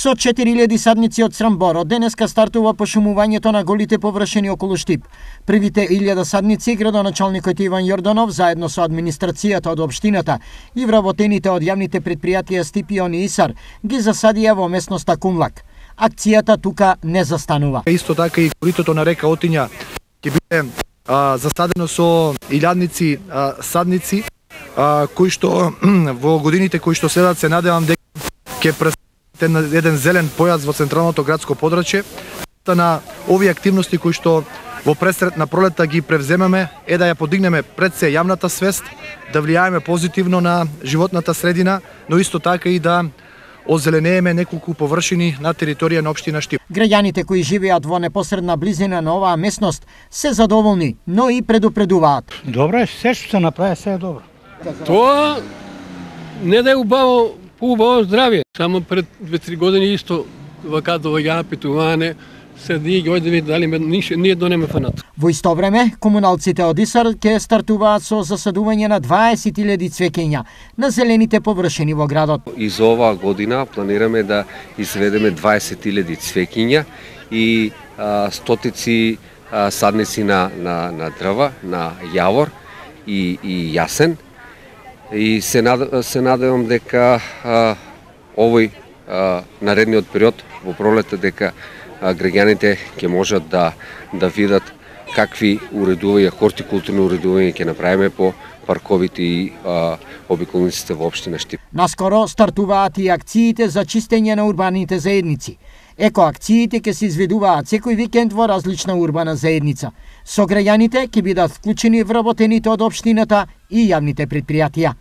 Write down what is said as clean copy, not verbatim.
Со 4000 садници од Срамбор, од денеска стартува пошумувањето на голите површини околу Штип. Првите 1000 садници градоначалникот Иван Јорданов заедно со администрацијата од општината и вработените од јавните предпријатија Стипион и Исар ги засадија во местноста Кумлак. Акцијата тука не застанува. Исто така и коритото на река Отиња ќе биде засадено со илјадници садници кои што во годините кои што следат се надевам дека ќе представите еден зелен појас во централното градско подрачје. На овие активности кои што во пресред на пролетта ги превземеме е да ја подигнеме пред се јавната свест, да влијаеме позитивно на животната средина, но исто така и да озеленееме неколку површини на територија на општина Штип. Граѓаните кои живеат во непосредна близина на оваа местност се задоволни, но и предупредуваат. Добро е, се што се направи, се е добро. Тоа не да е убаво, поубаво здравје. Само пред 2-3 години исто вака доаѓаа питување, се ги одиме дали ние донеме фанат. Во исто време, комуналците од Исар ќе стартуваат со засадување на 20.000 цвеќења на зелените површини во градот. И за оваа година планираме да изведеме 20.000 цвеќиња и стотици садници на дрва, на јавор и јасен. И се надевам дека овој наредниот период во пролетта дека граѓаните ќе можат да видат какви уредувања, хортикултурни уредувања ќе направиме по парковите и обиколниците во општина Штип. Наскоро стартуваат и акциите за чистење на урбаните заедници. Екоакциите ќе се изведуваат секој викенд во различна урбана заедница. Со граѓаните ќе бидат вклучени вработените од општината и јавните предпријатија.